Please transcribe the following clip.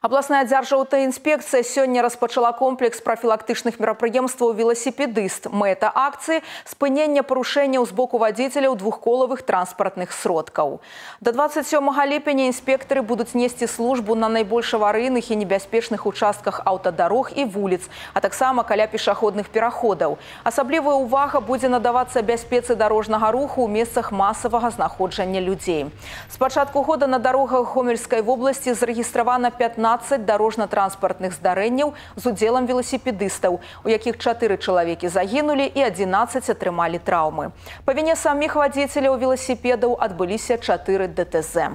Абласная дзяржаўтаінспекцыя сёння распачала комплекс профілактычных мерапрыемстваў велосипедист. Мэта акцыі – спынення парушэнняў з боку вадзіцеляў двухколавых транспартных сродкаў. До 27 ліпеня інспектары будуць несці службу на найбольш аварыйных і небяспечных участках аўтадарог і вуліц, а таксама каля пешаходных пераходаў. Асаблівая ўвага будзе надавацца бяспецы дарожнага руху ў месцах масавага знаходжання людзей. З пачатку года на дарогах Гомельскай вобласці зарэгістравана 15 дарожна-транспартных здарэнняў з удзелам велосипедистаў, у якіх 4 чалавекі загінулі і 11 атрымалі траўмы. Па віне саміх вадзіцеляў велосипедаў адбыліся 4 ДТЗ.